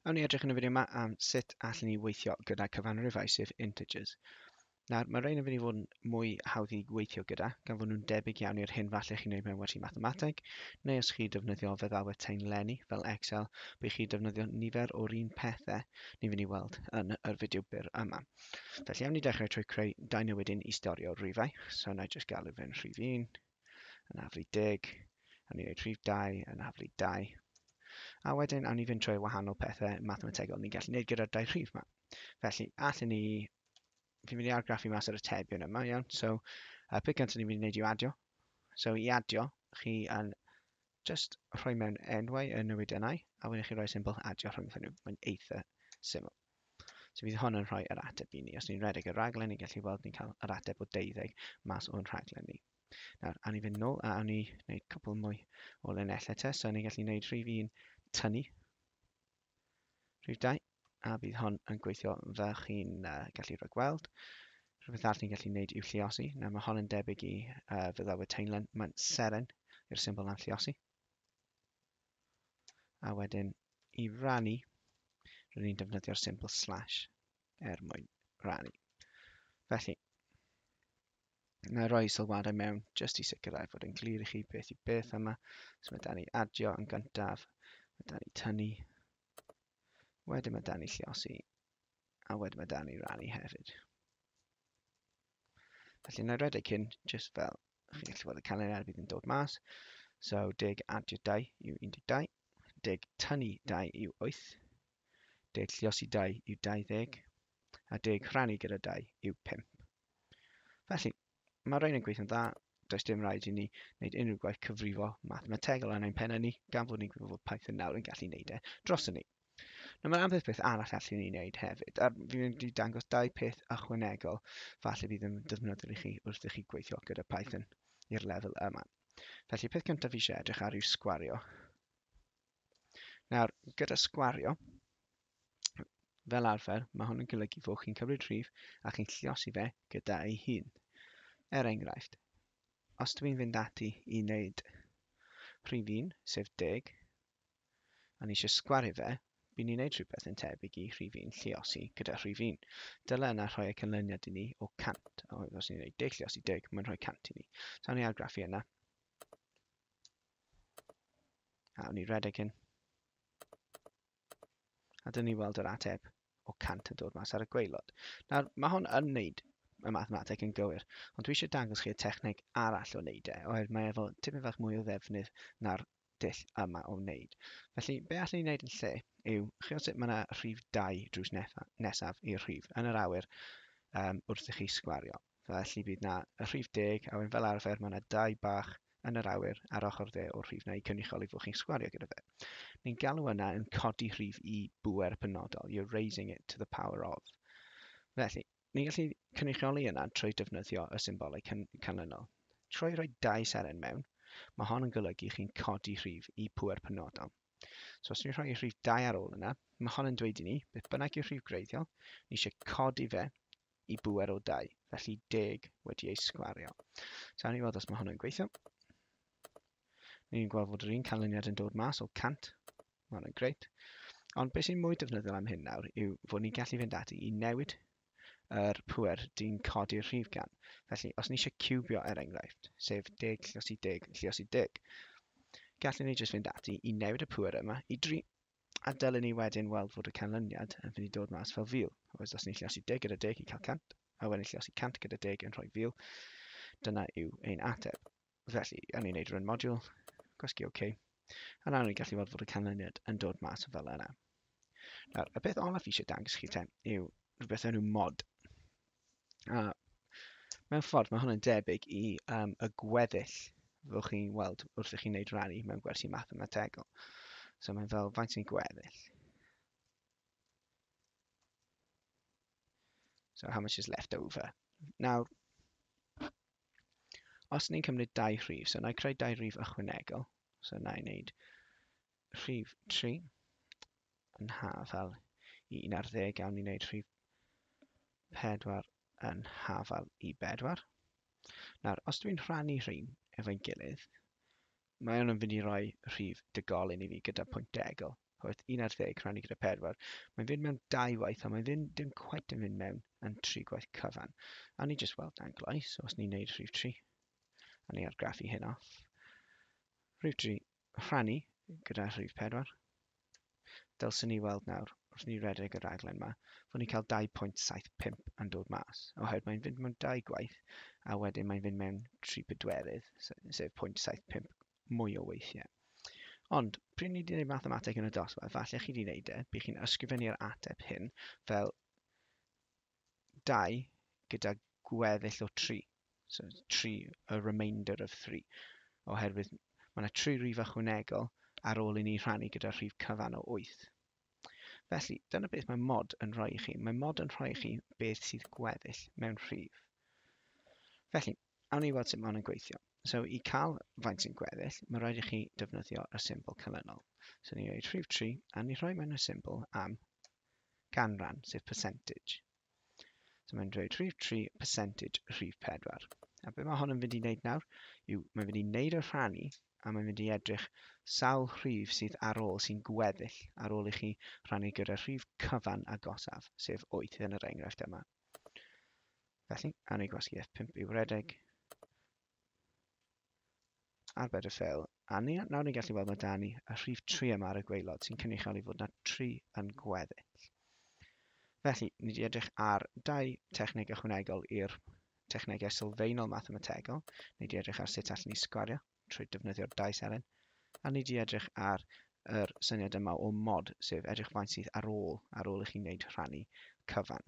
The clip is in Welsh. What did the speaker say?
Awn ni edrych yn y fideo yma am sut allwn ni weithio gyda cyfanrifau, sef integers. Nawr, mae rhain yn mynd i fod yn mwy hawdd i weithio gyda, gan fod nhw'n debyg iawn i'r hyn falle chi'n gwneud mewn wersi mathemateg, neu os chi defnyddio feddalwedd taenlenni fel Excel, bydd chi defnyddio nifer o'r un pethau ni'n mynd i weld yn yr fideo byr yma. Felly, awn ni dechrau trwy creu dau newidyn i storio rhifau. So, na i jyst galw fe'n rhif 1, yn haflu 10, awn ni wneud rhif 2 yn haflu 2. A wedyn awn ni fynd trwy wahanol pethau mathemategol ni'n gallu gwneud gyda'r dau rhif yma. Felly, allen ni, fi'n mynd i argraffu mas yr atebion yma, iawn. So, peth cyntaf ni'n mynd i wneud yw adio. So, i adio, chi yn just rhoi mewn enwau y newidiannau, a wedyn chi rhoi symbol adio rhyngddyn nhw. Mae'n eitha syml. So fydd hwn yn rhoi yr ateb i ni. Os ni'n rhedeg y rhaglen, ni'n gallu weld ni'n cael yr ateb o 12 mas o'n rhaglen ni. Nawr, awn ni fynd nôl a awn ni wneud cwpl mwy o linellau te. So ni'n gallu gwneud rhif 1 tynnu rhif 2, a bydd hon yn gweithio fel chi'n gallu rhagweld. Rhywbeth arall ni'n gallu gwneud yw lluosi. Nawr mae hon yn debyg i feddalwedd taenlen. Mae'n seren i'r symbol am lluosi. A wedyn i rannu, rydyn ni'n defnyddio'r symbol slash er mwyn rannu. Felly, na i roi sylwadau mewn jyst i sicrhau fod yn glir i chi beth yw beth yma. So mae da ni adio yn gyntaf, mae da ni tynnu, wedyn mae da ni lluosi, a wedyn mae da ni rannu hefyd. Felly, na i redeg hyn jyst fel chi'n gallu gweld y canlyniad bydd yn dod mas. So, 10 adio 2 yw 12, 10 tynnu 2 yw 8, 10 lluosi 2 yw 20, a 10 rhannu gyda 2 yw 5. Felly, mae rhain yn gweithio'n dda, does dim rhaid i ni wneud unrhyw gwaith cyfrifo mathemategol yn ein pennau ni, gan fod ni'n gwybod fod Python nawr yn gallu wneud e droson ni. Nawr mae ambell beth arall allwn ni wneud hefyd, a fi'n mynd i dangos dau peth ychwanegol falle bydd yn defnyddiol i chi wrth i chi gweithio gyda Python i'r lefel yma. Felly, peth cyntaf fi eisiau edrych ar yw sgwario. Nawr, gyda sgwario, fel arfer, mae hwn yn golygu fod chi'n cymryd rhif a chi'n lliosi fe gyda ei hun. Er enghraifft, os dwi'n fynd ati i wneud rhif 1, sef 10, a ni eisiau sgwario fe, bydd ni'n gwneud rhywbeth yn tebyg i rhif 1 lluosi gyda rhif 1. Dyle yna rhoi y canlyniad i ni o 100. Oherwydd os ni'n gwneud 10 lluosi 10, mae'n rhoi 100 i ni. So awn ni argraffu yna. A awn ni redeg hyn. A dyn ni weld yr ateb o 100 yn dod mas ar y gwaelod. Nawr, mae hwn yn wneud y mathemateg yn gywir, ond dwi eisiau dangos chi y techneg arall o wneud e, oherwydd mae efo tipyn fach mwy o ddefnydd na'r dull yma o wneud. Felly, be allwn ni wneud yn lle yw, chi sut mae yna rhif 2 drws nesaf i'r rhif yn yr awyr wrth i chi sgwario. Felly bydd na y rhif 10, a wedyn fel arfer mae yna 2 bach yn yr awyr ar ochr dde o'r rhif na i cynrychioli fod chi'n sgwario gyda fe. Ni'n galw yna yn codi rhif i bŵer penodol. You're raising it to the power of. Felly, ni'n gallu cynrychioli yna trwy defnyddio y symbolau canlynol. Trwy roi dau seren mewn, mae hon yn golygu chi'n codi rhif i pŵer penodol. So os ni'n rhoi rhif 2 ar ôl yna, mae hon yn dweud i ni, beth bynnag yw'r rhif gwreiddiol, ni eisiau codi fe i bŵer o 2, felly 10 wedi ei sgwario. So awn ni weld os mae hwn yn gweithio. Ni'n gweld fod yr un canlyniad yn dod mas o 100. Mae hwnna'n grêt. Ond beth sy'n mwy defnyddiol am hyn nawr yw fod ni'n gallu fynd ati i newid yr pŵer dyn codi'r rhif gan. Felly, os ni eisiau ciwbio er enghraifft, sef 10 lluosi 10 lluosi 10, gallwn ni jyst fynd ati i newid y pŵer yma i 3. A dylen ni wedyn weld fod y canlyniad yn fynd i dod mas fel 1000. Oes, os ni'n lluosi 10 gyda 10 i cael 100, a wedyn lluosi 100 gyda 10 yn rhoi 1000, dyna yw ein ateb. Felly, awn ni'n neud run module, gwasgu OK, a nawr ni'n gallu weld fod y canlyniad yn dod mas fel yna. Nawr, y peth olaf fi eisiau dangos chi te yw rhywbeth enw mod. A mewn ffordd, mae hwn yn debyg i y gweddill fyddwch chi'n weld wrth i chi wneud rannu mewn gwersi mathemategol. So mae'n fel faint sy'n gweddill. So how much is left over? Nawr, os ni'n cymryd dau rhif, so na i creu dau rhif ychwanegol, so na i wneud rhif 3 yn hafal i 11, awn ni wneud rhif 4 yn hafal i 4. Nawr, os dwi'n rhannu rhain efo'n gilydd, mae hwn yn fynd i roi rhif degolyn i fi gyda pwynt degol. Oherwydd 11 rhannu gyda 4, mae'n fynd mewn 2 waith, ond mae'n fynd, dim cweit yn fynd mewn yn 3 gwaith cyfan. A ni jyst weld na'n gloi, so os ni'n neud rhif 3, a ni argraffu hyn off. Rhif 3 rhannu gyda rhif 4. Dylswn ni weld nawr, wrth ni redeg y raglen yma, fod ni'n cael 2.75 yn dod mas, oherwydd mae'n fynd mewn 2 gwaith, a wedyn mae'n fynd mewn 3 pedwerydd, sef 0.75 mwy o weithiau. Ond, pryd ni wedi gwneud mathemateg yn y dosbarth, falle chi wedi gwneud e, bydd chi'n ysgrifennu'r ateb hyn fel 2 gyda gweddill o 3. So 3, a remainder of 3. Oherwydd mae yna 3 rhif ychwanegol ar ôl i ni rhannu gyda rhif cyfan o 8. Felly, dyna beth mae mod yn rhoi i chi. Mae mod yn rhoi i chi beth sydd gweddill mewn rhif. Felly, awn ni weld sut mae hwn yn gweithio. So, i cael faint sy'n gweddill, mae rhaid i chi defnyddio y symbol canlynol. So, ni'n rhoi rhif 3, a ni'n rhoi mewn y symbol am ganran, sef percentage. So, mae'n dweud rhif 3 percentage rhif 4. A beth mae hwn yn fynd i wneud nawr yw mae'n fynd i wneud y rhannu a mae'n mynd i edrych sawl rhif sydd ar ôl sy'n gweddill ar ôl i chi rhannu gyda rhif cyfan agosaf, sef 8 yn yr enghraifft yma. Felly, awn ni gwasgu F5 i'w redeg, arbed y ffeil, a ni, nawr ni'n gallu weld mae da ni y rhif 3 yma ar y gwaelod sy'n cynrychioli fod na 3 yn gweddill. Felly, ni wedi edrych ar dau techneg ychwanegol i'r technegau sylfaenol mathemategol. Ni wedi edrych ar sut allwn ni sgwario trwy defnyddio'r dau seren, a ni wedi edrych ar yr syniad yma o mod, sef edrych faint sydd ar ôl i chi wneud rhannu cyfan.